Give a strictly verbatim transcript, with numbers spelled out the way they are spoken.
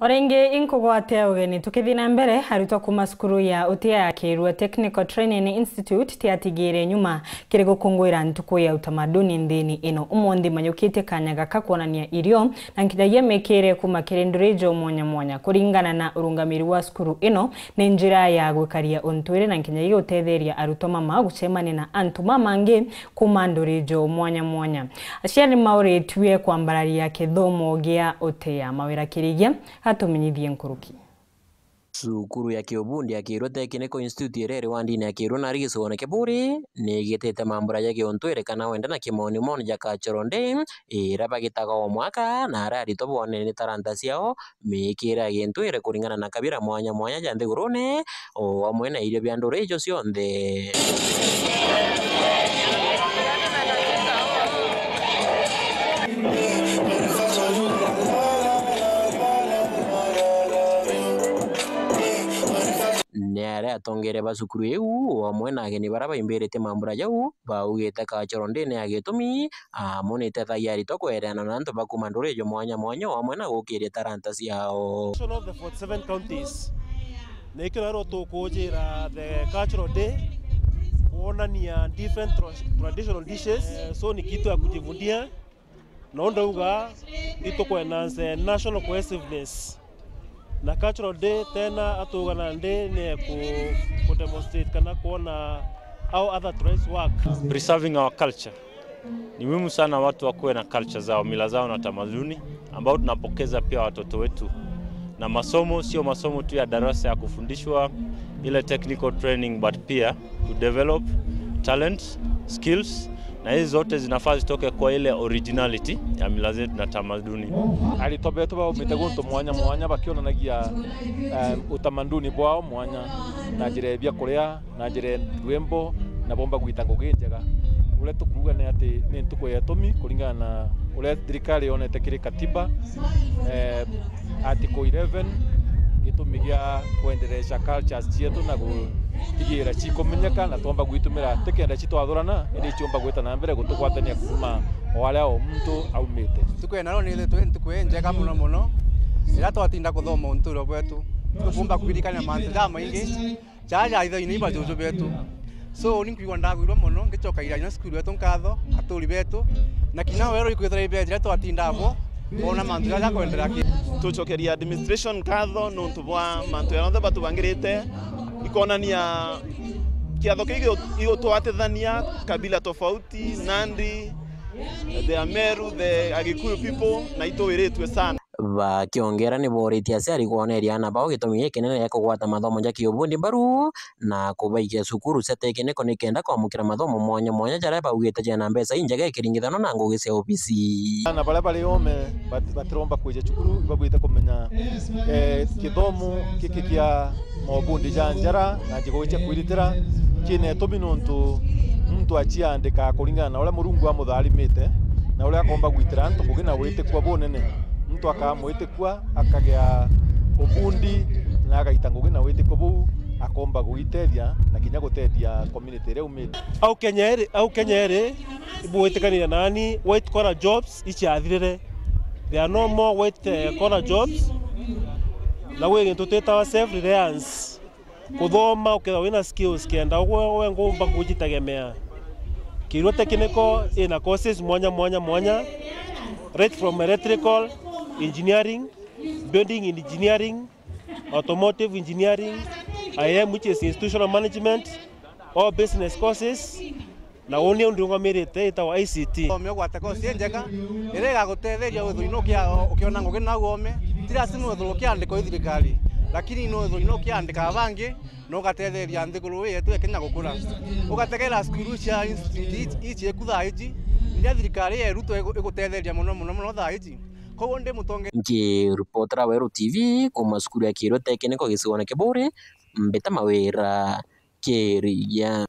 O ringi inkugwatia ugeni. Tukithii na mbere, arutwa kuuma cukuru ya Utia ya Kirua Technical Training Institute tiatigire nyuma kiri gukunguira ntuku ya utamaduni nthini ino. Umunthi manyukitie kanya gaka kwonania irio na nkinyagia mikire kuuma kiri nduri jo mwanya mwanya. Kuringana na urungamiri wa cukuru ino, ni njira ya gwikaria untwire na nkinyagia gutetheria arutwa mama gucemania na antu mamangi kuuma nduri jo mwanya mwanya. Aciari ni mauritue kwambararia kithomo gia Utia. Mawira Kirigia atumenyithie nkuruki. Cukuru ya kiubundi ya Kirua Technical Institute iria iri wandini ya Kirua nari gicigoone kia Buuri, ni igitite mambura ja kiuntwire kana wenda na kimonimoni ja cultural day, iria bagitaga o mwaka, na aria aritwa boonere ni taranta ciao, miikire ya gintwire kuringana na kabira mwanya mwanya ja nthigurune, o amwe na irio bia nduri icio cionthe. Ni aria atongeria ba cukuru iu, o amwe na ageni baria baimbiritie mambura jau, baugite cultural day ni ya gitumi, amu ni itethagia aritwa kwereana na antu ba kuuma nduri ijo mwanya mwanya, o amwe na gukiria taranta ciao. Nation of the forty-seven counties. Na ikio rero tukujira the cultural day, kuonania different tra-, traditional dishes. Eh, so ni kitu ya kujivunia. No ndauga itukwena nse national cohesiveness. Na cultural day tena atuga nandi ni ku, ku demonstrate kana kuona how other tribes work. Preserving our culture. Ni muhimu sana watu wakuwe na culture zao, mila zao na tamaduni, ambao tunapokeza pia watoto wetu. Na masomo, sio masomo tu ya darasa ya kufundishwa, ile technical training, but pia to develop talent, skills, na hizi zote zinafaa zitoke kwa ile originality ya mila zetu na tamaduni. Aritwa betu baumite guntu mwanya mwanya bakionanagia, eh, utamaduni bwao mwanya na njira ya biakuria, na njira ya rwimbo, na bomba gwita ngugi njega. Uria tukuuga ni ati ni ntuku ya itumi kuringana na uria thirikari yonete kiri katiba, eh, article eleven, gitumi gia kwendereca cultures cietu na gutigira cikumenyeka na twomba gwitumira, tikenda citwathurana, indi ciomba gwita na mbere gutugwatania kuuma o aria o muntu aumite. Ntuku ya naro ni ithitwe ntuku injega muno muno, iria twatinda kuthoma unturo bwetu, tukumba kuririkania mantu jamaingi, jaja ithoine iba juju betu. So, ni nkwigua ndagwirwa mono, ngicokagira inya cukuru yetu nkatho, aturi betu, na kinya weru ikwithira ibe njira twatinda abo, bona mantu jaja kwenderea ki. Tucokeria administration nkatho nontu bwa mantu jonthe batubangirite, ikonania kiatho kii igu-, igutwatithania kabila tofauti, Nandi, the Ameru, the Agikuyu people, na itwiritwe sana. Bakiongera ni booritie aciari kwoneria aana bao gitumi gikinene gia kugwata mathomo ja kiubundi mbaru na kubaikia cukuru cia tekiniko nikenda kwamukira mathomo mwanya mwanya jaria baugite jena mbeca injega ikiringithanwa na ngugi cia obisi. Aana baria bari oome bat-, batiromba kwija cukuru, ibabwite kumenya, eh, kithomo giki kia maubundi ja njara na njigo cia kwiritira, kina itumi nontu muntu aciandika kuringana na uria Murungu amutharimite na uria akomba gwitira antu ngugi na witikua bunene. Muntu akamwitikua, akagia ubundi na agaita ngugi na witikua buu, akomba gwitethia na kinya gutethia community iria aumite. Au Kenya iri, au Kenya iri, ibwitikaniria nani, white collar jobs iciathirire. There are no more white, eh, collar jobs. Na gwi gintu twitawa self reliance. Kuthoma ukethirwa wina skills kenda ugwe we ngumba kujitegemea. Kirua Technical ina courses mwanya mwanya mwanya, right from electrical engineering, building engineering, automotive engineering, I M, which is institutional management, all business courses, na uni undirungamirite itagwa I C T. Oome ugwate course injega iria igagutetheria withirwe ino ukia-, ukiona ngugi nau oome. Ti lazima withirwe ukiandikwa i thirikari, lakini no withirwe ino ukiandika bangi na ugatetheria nthiguru ii yetu ya Kenya gukura. Ugategera cukuru cia institute ii, ii cieku thaa iji, iria thirikari ya Ruto igu-, igutetheria mono, mono, mono thaa iji. Koguo ndi mutonge- Nkiripotera Weru T V kuuma cukuru ya Kirua Technical gicigoone kia Buuri, Mbita Mawira Kirigia.